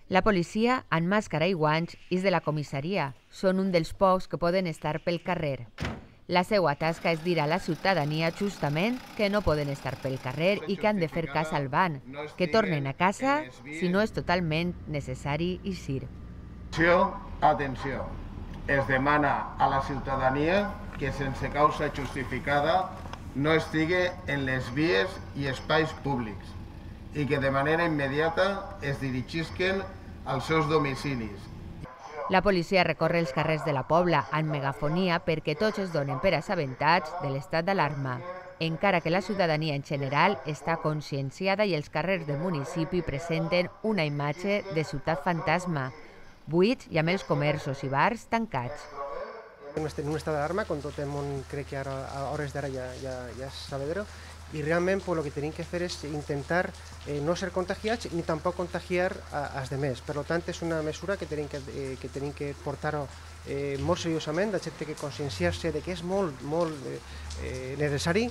La policia, amb màscara i guants, és de la comissaria. Són un dels pocs que poden estar pel carrer. La seva tasca és dir a la ciutadania justament que no poden estar pel carrer i que han de fer cas al ban, que tornen a casa si no és totalment necessari eixir. Atenció, es demana a la ciutadania que sense causa justificada no estigui en les vies i espais públics i que de manera immediata es dirigisquen als seus domicilis. La policia recorre els carrers de la Pobla amb megafonia perquè tots es donen per assabentats de l'estat d'alarma, encara que la ciutadania en general està conscienciada i els carrers del municipi presenten una imatge de ciutat fantasma, buits i amb els comerços i bars tancats. En un estat d'alarma, quan tot el món crec que ara, a hores d'ara ja és sabedor, i realment el que tenim que fer és intentar no ser contagiats ni tampoc contagiar als demés. Per tant, és una mesura que tenim que portar molt seriosament, la gent té que conscienciar-se de que és molt necessari,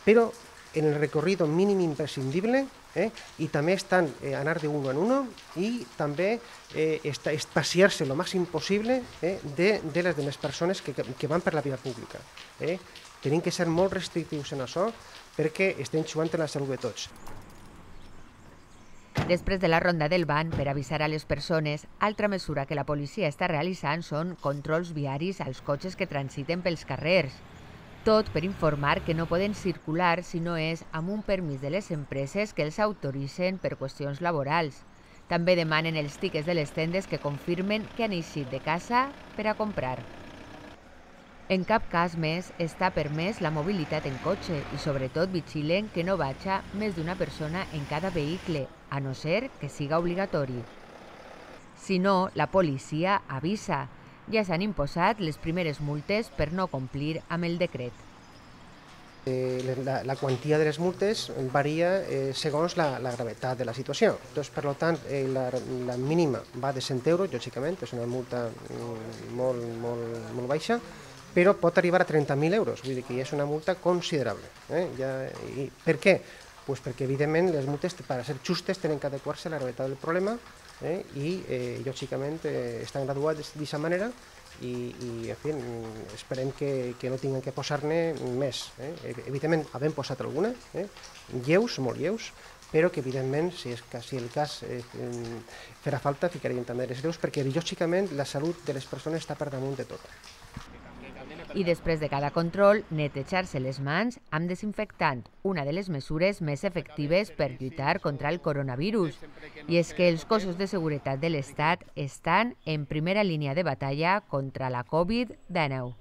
però en el recorrido mínim imprescindible i també estan anar de uno en uno i també espaciar-se el màxim possible de les demés persones que van per la via pública. Tenim que ser molt restrictius en això perquè estem jugant en la salut de tots. Després de la ronda del ban per avisar a les persones, altra mesura que la policia està realitzant són controls viaris als cotxes que transiten pels carrers. Tot per informar que no poden circular si no és amb un permís de les empreses que els autoritzen per qüestions laborals. També demanen els tiquets de les tendes que confirmen que han eixit de casa per a comprar. En cap cas més està permès la mobilitat en cotxe i sobretot vigilen que no vagi més d'una persona en cada vehicle, a no ser que siga obligatori. Si no, la policia avisa. Ja s'han imposat les primeres multes per no complir amb el decret. La quantia de les multes varia segons la gravetat de la situació. Per tant, la mínima va de 100 euros, lògicament, és una multa molt baixa, però pot arribar a 30.000 euros, vull dir que és una multa considerable. Per què? Perquè, evidentment, les multes, per ser justes, tenen que adequar-se a la gravetat del problema i, lògicament, estan graduades d'aquesta manera i, en fi, esperem que no tinguin que posar-ne més. Evidentment, havem posat alguna, lleus, molt lleus, però que, evidentment, si el cas farà falta, ficarem també les greus, perquè, lògicament, la salut de les persones està per damunt de tot. I després de cada control, netejar-se les mans amb desinfectant, una de les mesures més efectives per lluitar contra el coronavirus. I és que els cossos de seguretat de l'Estat estan en primera línia de batalla contra la Covid-19.